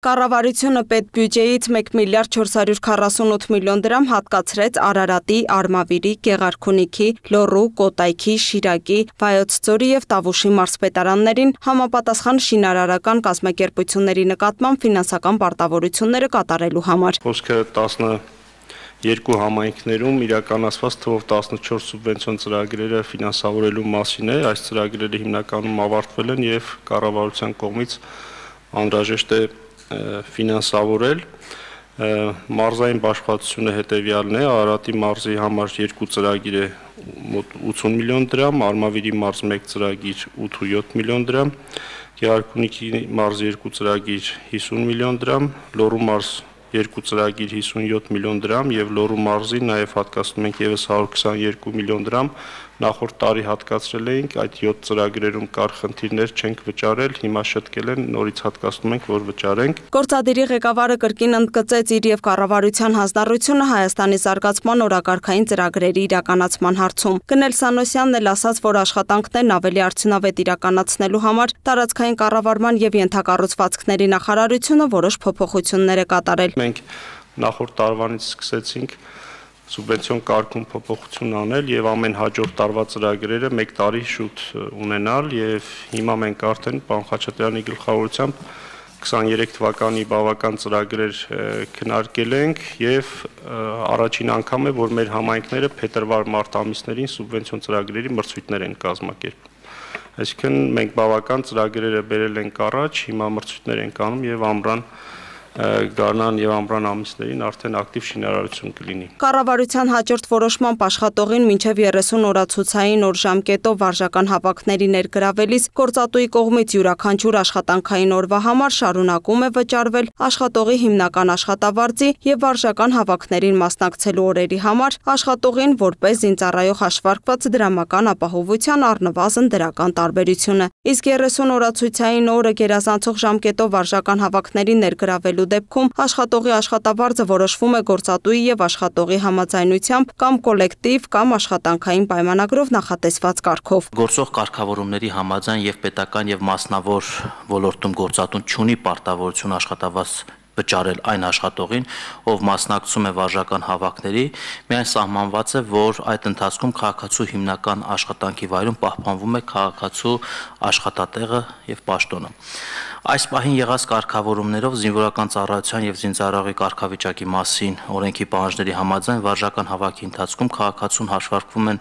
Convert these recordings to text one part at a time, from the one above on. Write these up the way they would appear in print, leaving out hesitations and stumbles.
Կառավարությունը պետբյուջեից 1 միլիարդ 448 միլիոն դրամ հատկացրեց Արարատի, Արմավիրի, Գեղարքունիքի, Լոռու, Կոտայքի, Շիրակի, Վայոց ձորի եւ Տավուշի մարզպետարաններին համապատասխան շինարարական կազմակերպությունների նկատմամբ ֆինանսական պարտավորությունները կատարելու համար։ Խոսքը 12 համայնքներում իրականացված թվով 14 սուբվենցիոն ծրագրերը ֆինանսավորելու մասին է։ Այս ծրագրերը հիմնականում ավարտվել են եւ կառավարության կողմից անհրաժեշտ է ֆինանսավորել մարզային բաշխվածությունը հետևյալն է Արարատի մարզի համար 2 ծրագիր է մոտ 80 միլիոն դրամ, Արմավիրի մարզ 1 ծրագիր 8-7 միլիոն դրամ, Գեղարքունիքի մարզ 2 ծրագիր 50 միլիոն դրամ, Լոռու մարզ 2 ծրագիր 57 միլիոն դրամ եւ Լոռու մարզին նաեւ հատկացնում ենք եւս 122 միլիոն դրամ նախորդ տարի հատկացրել էինք այդ 7 ծրագրերում կար խնդիրներ չենք վճարել հիմա շտկել են նորից հատկացնում ենք որ վճարենք Գործադիրի ղեկավարը կրկին ընդգծեց իր եւ կառավարության հանձնառությունը Հայաստանի զարգացման օրակարգային ծրագրերի իրականացման հարցում Գնել Սանոսյանն էլ ասաց որ աշխատանքներն ավելի արդյունավետ իրականացնելու համար տարածքային կառավարման եւ ենթակառուցվածքների նախարարությունը որոշ փոփոխություններ է կատարել Մենք նախորդ տարվանից սկսեցինք սուբվենցիոն կարգում փոփոխություն անել եւ ամեն հաջորդ տարվա ծրագրերը 1 տարի շուտ ունենալ եւ հիմա մենք արդեն պարոն Խաչատրյանի գլխավորությամբ 23 թվականի բավական ծրագրեր քննարկել ենք եւ առաջին անգամ է որ մեր համայնքները փետրվար-մարտ ամիսներին սուբվենցիոն ծրագրերի մրցույթներ են կազմակերպում այսինքն մենք բավական ծրագրերը բերել ենք առաջ հիմա մրցույթներ ենք անում եւ ամռան Գարնան եւ ամռան ամիսներին արդեն ակտիվ շինարարություն կլինի։ Կառավարության հաջորդ որոշմամբ աշխատողին մինչև 30 օրացուցային օր ժամկետով վարժական հավաքների ներգրավելիս գործատուի կողմից յուրաքանչյուր աշխատանքային օրվա համար շարունակում է վճարվել աշխատողի հիմնական աշխատավարձի եւ վարժական հավաքներին մասնակցելու օրերի համար աշխատողին որպես զինծառայող հաշվարկված դրամական ապահովության առնվազն դրական տարբերությունը։ Իսկ 30 օրացուցային օրը գերազանցող ժամկետով վարժական հավաքների ներգրավելու դեպքում աշխատողի աշխատավարձը որոշվում է գործատուի եւ աշխատողի համաձայնությամբ կամ կոլեկտիվ կամ աշխատանքային պայմանագրով նախատեսված կարգով։ Գործող կարգավորումների համաձայն եւ պետական եւ մասնավոր ոլորտում գործատուն չունի պարտավորություն աշխատավարձ վճարել այն աշխատողին, ով մասնակցում է վարժական հավաքների, միայն սահմանված է, որ այդ ընթացքում քաղաքացու հիմնական աշխատանքի վայրում պահպանվում է քաղաքացու աշխատատեղը եւ պաշտոնը։ Այս պահին եղած կարգավորումներով զինվորական ծառայության եւ զինծառայողի կարգավիճակի մասին օրենքի պահանջների համաձայն վարժական հավաքի ընթացքում քաղաքացուն հաշվարկվում են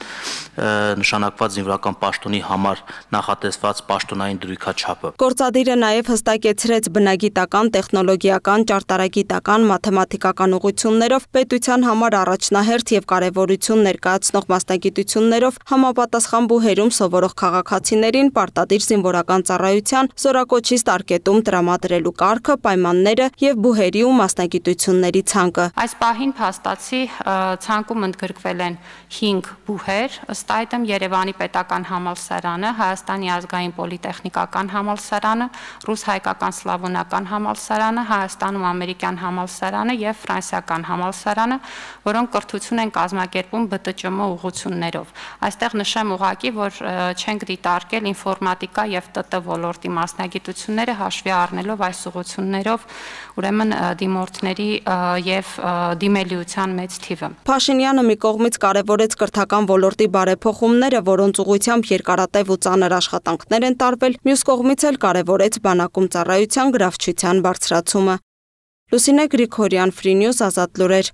նշանակված զինվորական պաշտոնի համար նախատեսված պաշտոնային դրույքաչափը։ Գործադիրը նաեւ հստակեցրեց բնագիտական, տեխնոլոգիական, ճարտարագիտական, մաթեմատիկական ուղղություններով պետության համար առաջնահերթ եւ կարեւորություն ներկայացնող մասնագիտություններով համապատասխան բուհերում սովորող քաղաքացիներին պարտադիր զինվորական ծառայության զորակոչի ստարկետում տրամադրելու կարգը, պայմանները եւ բուհերի ու մասնագիտությունների ցանկը։ Այս պահին փաստացի ցանկում ընդգրկվել են 5 բուհեր, ըստ այդմ Երևանի պետական համալսարանը, Հայաստանի ազգային պոլիտեխնիկական համալսարանը, ռուս-հայկական սլավոնական համալսարանը, Հայաստանում ամերիկյան համալսարանը եւ ֆրանսիական համալսարանը, որոնք կրթություն են կազմակերպում ԲՏՃՄ ուղղություններով։ Այստեղ նշեմ ուղղակի, որ չենք դիտարկել ինֆորմատիկա եւ ՏՏ ոլորտի մասնագիտությունները հաշվի առնելով այս ուղղություններով ուրեմն դիմորդների եւ դիմելիության մեծ թիվը։ Փաշինյանը մի կողմից կարևորեց կրթական ոլորտի բարեփոխումները, որոնց ուղղությամբ երկարատև ու ծանր աշխատանքներ են տարվել, մյուս կողմից էլ կարևորեց բանակում ծառայության գրավչության բարձրացումը։ Լուսինե Գրիգորյան, Free News, Ազատ լուրեր։